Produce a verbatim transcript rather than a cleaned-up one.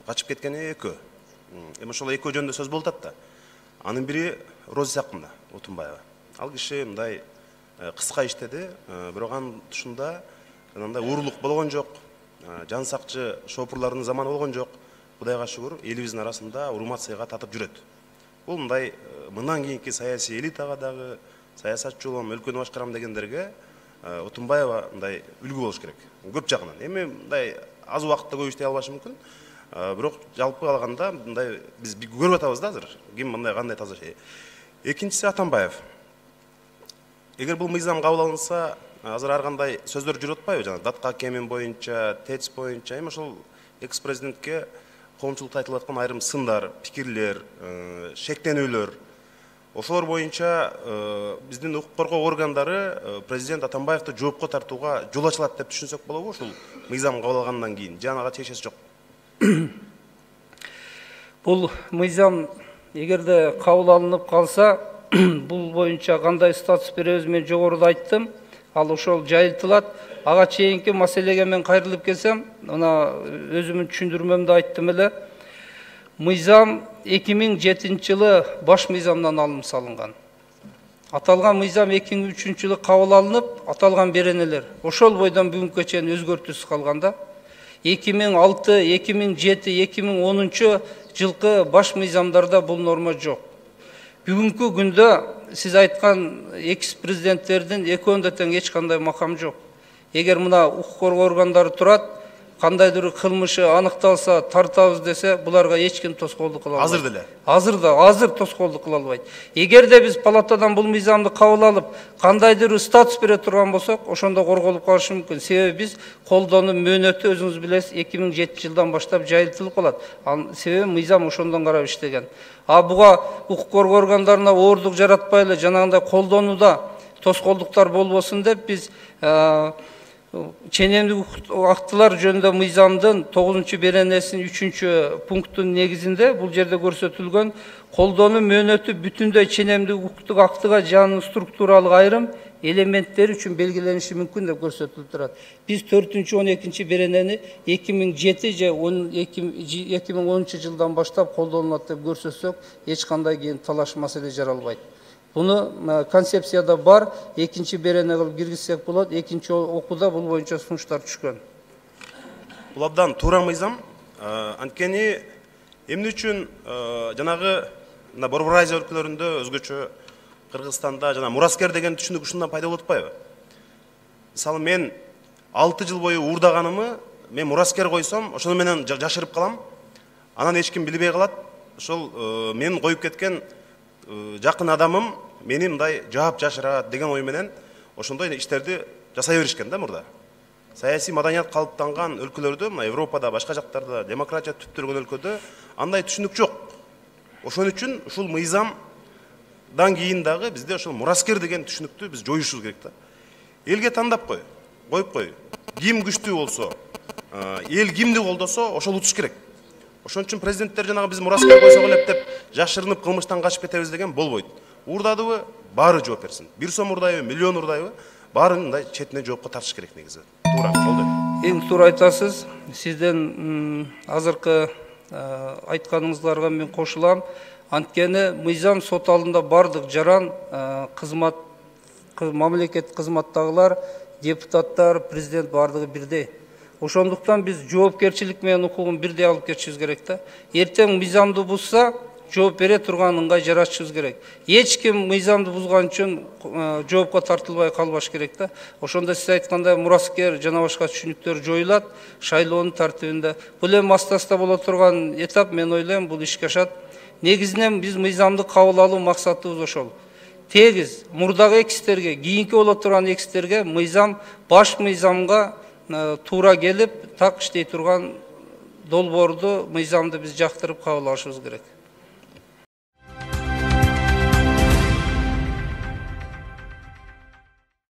качып кеткени экөө. Эми ошол экөө жөнүндө сөз болуп атат да. Анын бири Роза Исакмына Отунбаева. Ал киши мындай кыска иштеди, бирок анын тушунда мындай уурулук болгон жок, жан сакчы шопурлардын заманы болгон жок. Кудайга шүгүр, элибиздин арасында урмат-сыйга татып жүрөт. Бул мындай мындан кийинки саясий элитага дагы, саясатчы болом, өлкөнү башкарам дегендерге Отунбаева мындай үлгү болуш керек. Көп жагынан. Эми мындай аз убакытта көп иштей албашы мүмкүн. Бирок жалпы алганда мындай биз көрүп атабыз да азыр. Ким мындай кандай таза şey. Экинчиси Атамбаев. Эгер бул мыйзам кабыл алынса, азыр ар кандай сөздөр жүрүп атпайбы? Жана датка кемин боюнча, ТЭЦ боюнча, эми ошол экс-президентке коомчулукта айтылып аткан айрым сындар, пикирлер, шектенүүлөр, ошолор боюнча биздин укук коргоо органдары президент Атамбаевди жоопко тартууга жол ачылат деп түшүнсөк болобу ушул мыйзам кабыл алгандан кийин? Же ага тиешеси жок? Бул мыйзам эгерде кабыл алынып калса, бул боюнча кандай статус беребиз мен жогоруда айттым. Ал ошол жайылтылат. Ага чейинки маселеге мен кайрылып келсем, мына өзүмдүн түшүндүрмөмдө айттым эле. Мыйзам эки миң жетинчи жылы баш мыйзамдан алынып салынган. Аталган мыйзам эки миң үчүнчү жылы кабыл алынып, аталган беренелер ошол бойдон бүгүнкү чейин өзгөртүүсүз калганда. эки миң алты, эки миң жети, эки миң онунчу жылкы баш мыйзамдарда бул норма жок. Бүгүнкү күндө сиз айткан экс-президенттердин экөөндө тең эч кандай макам жок. Эгер мына укук коргоо органдары турат, кандайдыр кылмышы аныкталса, тартабыз десе, буларга эч ким тоскоолдук кыла албайт. Азыр деле. Азыр да, азыр тоскоолдук кыла албайт. Эгерде биз палатадан бул мыйзамды кабыл алып, кандайдыр статус бере турган болсок, ошондо корголуп калышы мүмкүн. Себеби биз колдонуу мөөнөтү өзүңүз билесиз, эки миң жетинчи жылдан баштап жайылтылып калат. Ал себеби мыйзам ошондон карап иштеген. А буга укук коргоо органдарына оорлук жаратпайлы, жанагындай колдонууда тоскоолдуктар болбосун деп биз ченемдик актылар жөнүндө мыйзамдын тогузунчу беренесинин үчүнчү пунктунун негизинде бул жерде көрсөтүлгөн колдонуу мөөнөтү бүтүндөй ченемдик укуктук актыга жанын структуралык айрым элементтери үчүн белгилениши мүмкүн деп көрсөтүлүп турат. Биз төртүнчү он экинчи беренени эки миң жети же эки миң онунчу жылдан баштап колдонулат деп көрсөтсөк, эч кандай кийин талаш маселе жаралбайт. Буну концепцияда бар, экинчи берене кылып киргизсек болот, экинчи окууда бул боюнча сунуштар түшкөн. Бул абдан туура мыйзам. Анткени эмне үчүн жанагы мына Борбор Азия өлкөлөрүндө өзгөчө Кыргызстанда жана мураскер деген түшүнүк ушундан пайда болуп атпайбы? Мисалы мен алты жыл бою уурдаганымы мен мураскер койсом, ошону менен жашырып калам. Анан эч ким билбей калат. Ошол мен коюп кеткен жакын адамым мени мындай жаап жашырат деген ой менен ошондой иштерди жасай беришкен да мурда. Саясий маданият калыптанган өлкөлөрдө, мына Европада, башка жактарда, демократия түптөлгөн өлкөдө андай түшүнүк жок. Ошон үчүн ушул мыйзамдан кийин дагы бизде ошол мураскер деген түшүнүктү биз жоюшубуз керек да. Элге тандап кой, коюп кой. Ким күчтүү болсо, эл кимди колдосо, ошол утуш керек. Ошон үчүн президенттер жанагы биз мураскер койсок элеп деп жашырынып кылмыштан качып кетебиз деген болбойт. Уурдадыбы, баары жооп берсин. Бир сом уурдайбы, миллион уурдайбы, баарын мындай четине жоопко тартыш керек негизи. Туура, болду. Эң туура айтасыз. Сизден азыркы айтканыңыздарга мен кошулам. Анткени мыйзам сот алдында бардык жаран кызмат мамлекет кызматтагылар, депутаттар, президент бардыгы бирдей. Ошондуктан биз жоопкерчилик менен укугун бирдей алып кетишибиз керек да. Эртең мыйзамды бузса, жооп бере турган ыңгай жаратышыбыз керек. Эч ким мыйзамды бузган үчүн жоопко тартылбай калбаш керек да. Ошондо сиз айткандай мураскер жана башка түшүнүктөр жоюлат шайлоонун тартибинде. Бул эми аста-аста боло турган этап, мен ойлойм, бул ишке ашат. Негизинен биз мыйзамды кабыл алуу максатыбыз ошол. Тегиз мурдагы экстерге, кийинки боло турган экстерге мыйзам баш мыйзамга туура келип, так иштей турган долбоорду, мыйзамды биз жактырып кабыл алышыбыз керек.